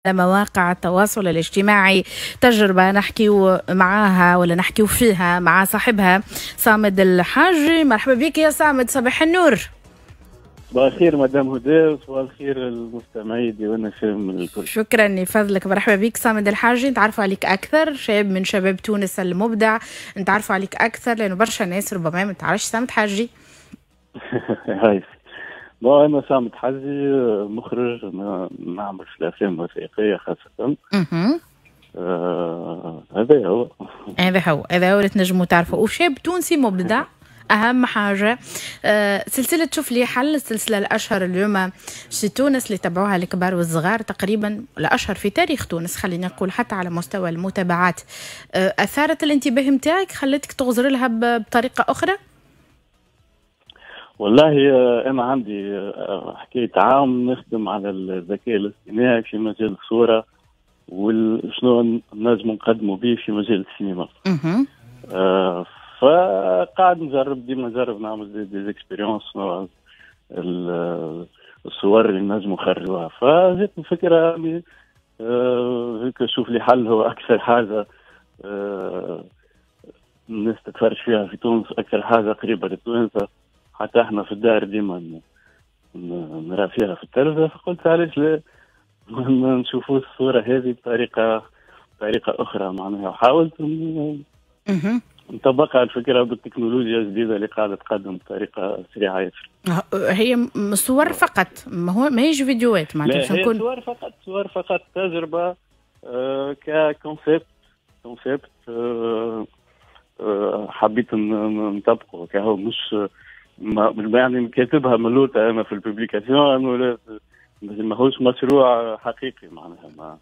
مواقع التواصل الاجتماعي. تجربة نحكيو معاها ولا نحكيو فيها مع صاحبها صامد الحاجي. مرحبا بك يا صامد، صباح النور. صباح الخير مدام هدى، وصباح الخير المستمعين ديوان فهم الكل. شكرا لفضلك، مرحبا بك صامد الحاجي. نتعرفوا عليك اكثر، شاب من شباب تونس المبدع، نتعرفوا عليك اكثر لانه برشا ناس ربما ما تعرفش صامد حاجي. هاي bon، انا صامد حاجي، مخرج، نعمل في الافلام الوثائقية خاصه. هذا هو. هذا هو، هذا هو اللي تنجموا تعرفوا، وشاب تونسي مبدع اهم حاجه. سلسلة شوف لي حل، السلسلة الاشهر اليوم في تونس اللي تبعوها الكبار والصغار تقريبا، الاشهر في تاريخ تونس خلينا نقول حتى على مستوى المتابعات. اثارت الانتباه نتاعك، خلتك تغزر لها بطريقة اخرى؟ والله انا عندي حكاية عام نخدم على الذكاء الاصطناعي في مجال الصورة وشنو نجم نقدموا به في مجال السينما. فقاعد نجرب، ديما نجرب نعمل des expériences، الصور اللي نجموا نخرجوها. فجاتني الفكره، شوف لي حل هو اكثر حاجة الناس تتفرج فيها في تونس، اكثر حاجة قريبه للتوانسه، حتى احنا في الدار ديما نرى فيها في التلفزه. فقلت علاش لا نشوفوا الصورة هذه بطريقه اخرى معناها، وحاولت نطبقها الفكرة بالتكنولوجيا الجديدة اللي قاعدة تقدم بطريقة سريعة ياسر. هي صور فقط، ما هو ماهيش فيديوهات معناتها؟ هي صور فقط، صور فقط، تجربه ك concept حبيت نطبقه كهو، مش يعني كاتبها ملوطة انا في ال publication انه ماهوش مشروع حقيقي معناها ما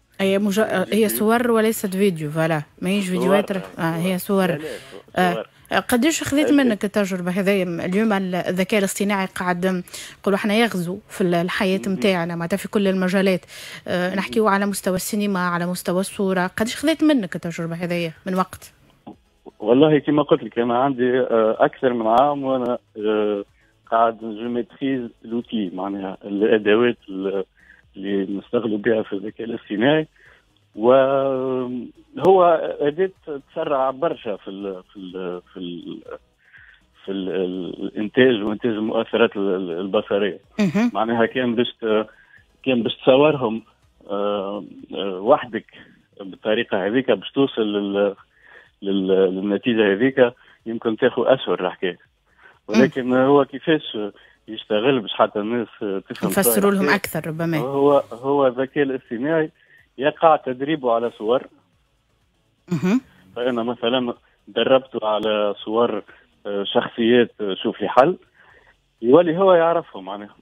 هي صور وليست فيديو، voilà، ماهيش فيديوهات، هي صور. قديش خذيت منك التجربة هذه؟ اليوم الذكاء الاصطناعي قاعد نقولوا احنا يغزو في الحياة نتاعنا معناتها في كل المجالات، نحكيو على مستوى السينما، على مستوى الصوره. قديش خذيت منك التجربة هذه من وقت؟ والله كما قلت لك، انا عندي اكثر من عام وانا قاعد je maîtrise l'outil، معناها الادوات اللي نستغلوا بها في الذكاء الاصطناعي، وهو اداه تسرع برشا في الانتاج وانتاج المؤثرات البصريه. معناها كان باش تصورهم وحدك بالطريقة هذيك باش توصل للنتيجة هذيك يمكن تاخذ اشهر الحكايه، ولكن هو كيفاش يشتغل باش حتى الناس تفهم؟ نفسروا لهم اكثر ربما. هو الذكاء الاصطناعي يقع تدريبه على صور. فانا مثلا دربته على صور شخصيات شوف لي حل، يولي هو يعرفهم معناها.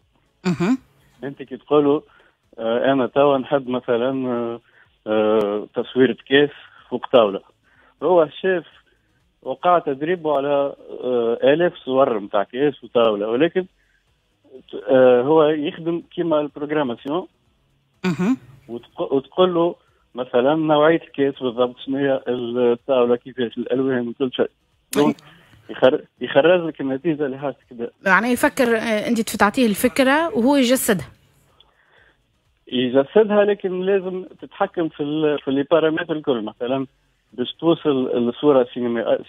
انت كي تقولوا انا توا نحب مثلا تصويرة كاس فوق طاوله، هو شاف وقع تدريبه على آلاف صور نتاع كاس وطاولة، ولكن هو يخدم كيما ال programmation، وتقول له مثلا نوعية الكاس بالضبط شنو هي، الطاولة كيفاش، الألوان وكل شيء، donc يخرج لك النتيجة اللي حاجتك بها. يعني يفكر، أنت تعطيه الفكرة وهو يجسدها. يجسدها، لكن لازم تتحكم في les paramètres الكل. مثلا باش توصل الصورة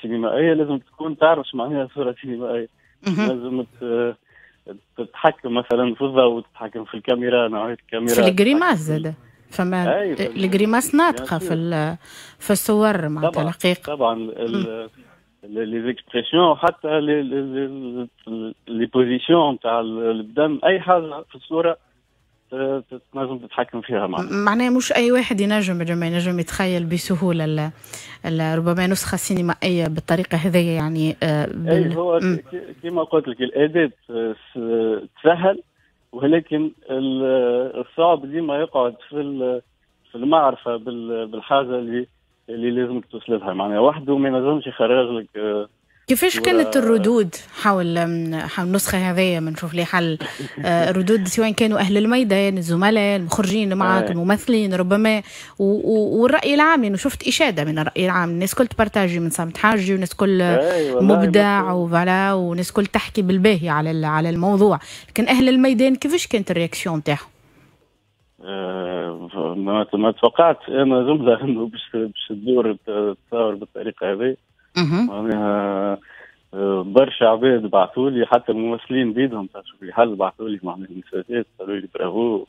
سينمائية لازم تكون تعرف معناها صوره سينمائيه، لازم تتحكم مثلا في الضوء، تتحكم في الكاميرا، نوعية الكاميرا. في ال grimaces زاد، فما ال grimaces ناطقه في الصور معناتها الحقيقه. طبعا، les expressions، حتى les positions تاع البدن، اي حاجة في الصورة تنجم تتحكم فيها. معناها مش اي واحد ينجم يتخيل بسهولة ربما نسخه سينمائية بالطريقة هذه يعني. بال... هو كما قلت لك، الاداة تسهل، ولكن الصعب ديما يقعد في المعرفة بالحاجة اللي لازمك توصل لها، معناها وحده ما ينجمش يخرج لك. كيفاش كانت الردود حول النسخة هذية من شوف لي حل؟ ردود سواء كانوا أهل الميدان، الزملاء، المخرجين اللي معك، الممثلين ربما، والرأي العام، لأنه شفت إشادة من الرأي العام، الناس كل ت partager من صامد حاجي، والناس كل مبدع و voilà، والناس كل تحكي بالباهي على الموضوع. لكن أهل الميدان كيفاش كانت ال réaction تاعهم؟ ما توقعت انا جملة انه باش تدور تصور بالطريقة هذه. معناها برشا عباد بعثوا لي، حتى الممثلين بيدهم تاع شوف لي حل بعثوا لي معناها ميساجات، قالوا لي برافو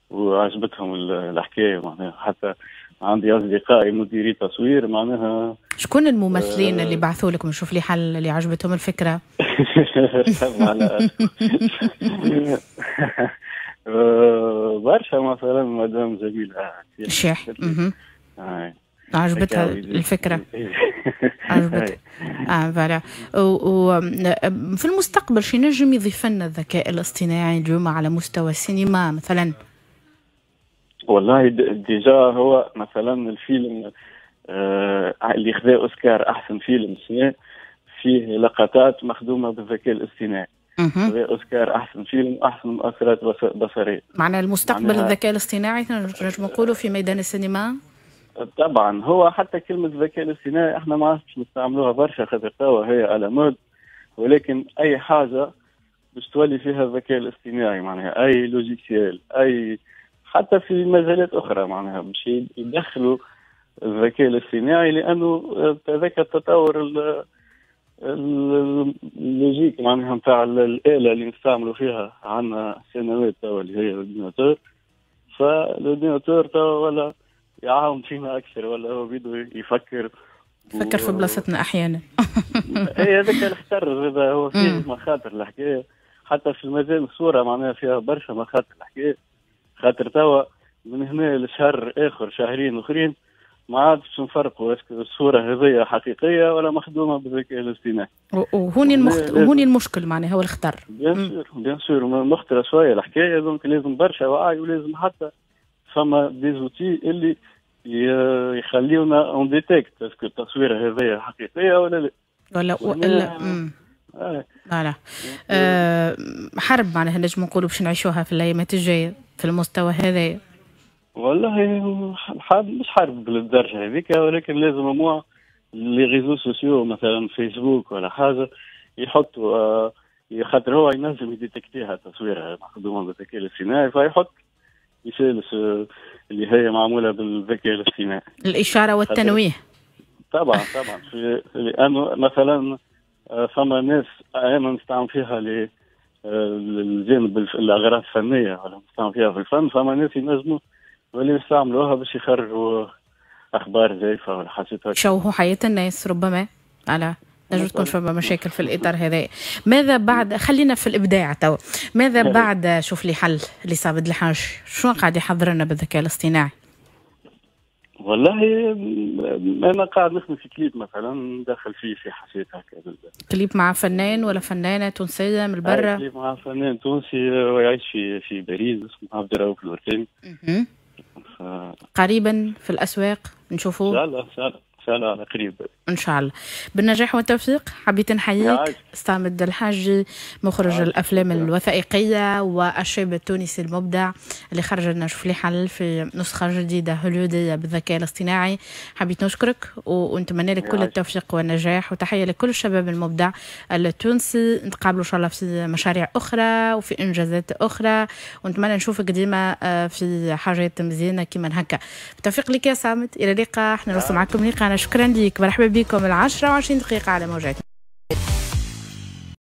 وعجبتهم الحكاية. معناها حتى عندي اصدقائي مديري تصوير معناها. شكون الممثلين اللي بعثوا لك من شوف لي حل اللي عجبتهم الفكرة؟ برشا، مثلا مدام جميلة الشيح عجبتها الفكرة، عجبتها voilà. وفي المستقبل شي نجم يضيف لنا الذكاء الاصطناعي اليوم على مستوى السينما مثلا؟ والله déjà هو مثلا الفيلم اللي خذا اوسكار احسن فيلم السنة فيه لقطات مخدومة بالذكاء الاصطناعي. خذا اوسكار احسن فيلم واحسن مؤثرات بصريه. معناها المستقبل الذكاء الاصطناعي نجم نقولوا في ميدان السينما؟ طبعا هو حتى كلمة الذكاء الاصطناعي احنا ما عادش نستعملوها برشا خاطر توا هي à la mode، ولكن اي حاجة باش تولي فيها الذكاء الاصطناعي معناها اي logiciel، اي حتى في مجالات اخرى معناها باش يدخلوا الذكاء الاصطناعي، لانه هذاك التطور ال logique معناها نتاع الاله اللي نستعملوا فيها عندنا سنوات توا اللي هي l'ordinateur. ف l'ordinateur توا ولا يعاون فينا اكثر، ولا هو بيدو يفكر في بلاصتنا احيانا. اي هذاك الخطر، هذا هو فيه مخاطر الحكاية، حتى في المجال الصورة معناها فيها برشا مخاطر الحكاية، خاطر توا من هنا لشهر اخر شهرين اخرين ما عادش نفرقوا est-ce que الصورة هذيا حقيقية ولا مخدومة بالذكاء الاصطناعي. وهوني وهوني المشكل معناها هو الخطر. bien sûr bien sûr مخطره شوية الحكاية، donc لازم برشا وعي، ولازم حتى فما des outils اللي يخليونا on détecte est-ce que التصويره هذيا حقيقية ولا لا. ولا voilà حرب معناها نجم نقولوا باش نعيشوها في الايامات الجاية في المستوى هذايا. والله مش حرب للدرجة هذيك، ولكن لازم moi les réseaux sociaux مثلا فيسبوك ولا حاجة يحطوا، خاطر هو ينجم يديتكتيها تصويرها مخدومة بالذكاء الاصطناعي، فيحط مثال اللي هي معمولة بالذكاء الاصطناعي. الاشارة والتنويه. طبعا طبعا، لانه مثلا فما ناس انا نستعمل فيها للجانب الاغراض الفنية ولا نستعمل فيها في الفن، فما ناس ينجموا واللي يستعملوها باش يخرجوا اخبار زايفه ولا حاجات هكا، شوهوا حياة الناس ربما. على نجم تكون فما مشاكل في الاطار هذا. ماذا بعد؟ خلينا في الابداع تو. ماذا بعد شوف لي حل اللي صابد الحاج، شنو قاعد يحضر لنا بالذكاء الاصطناعي؟ والله انا قاعد نخدم في كليب مثلا، ندخل فيه في حاجات هكا. كليب مع فنان ولا فنانة تونسية من برا؟ كليب مع فنان تونسي ويعيش في باريس اسمه عبد الرؤوف الورتاني. قريبا في الاسواق نشوفوه ان شاء الله. ان شاء الله ان شاء الله على قريب ان شاء الله. بالنجاح والتوفيق. حبيت نحييك صامد الحاجي، مخرج الافلام الوثائقية والشاب التونسي المبدع اللي خرج لنا شوف لي حل في نسخه جديدة هوليوديه بالذكاء الاصطناعي. حبيت نشكرك ونتمنى لك كل التوفيق والنجاح، وتحية لكل الشباب المبدع التونسي. نتقابلوا ان شاء الله في مشاريع اخرى وفي انجازات اخرى، ونتمنى نشوفك ديما في حاجات مزيانه كيما هكا. بالتوفيق لك يا صامد، الى اللقاء. احنا نوصل معكم لقاءنا. شكرا لك، مرحبا بكم. 10:20 على موجاتنا.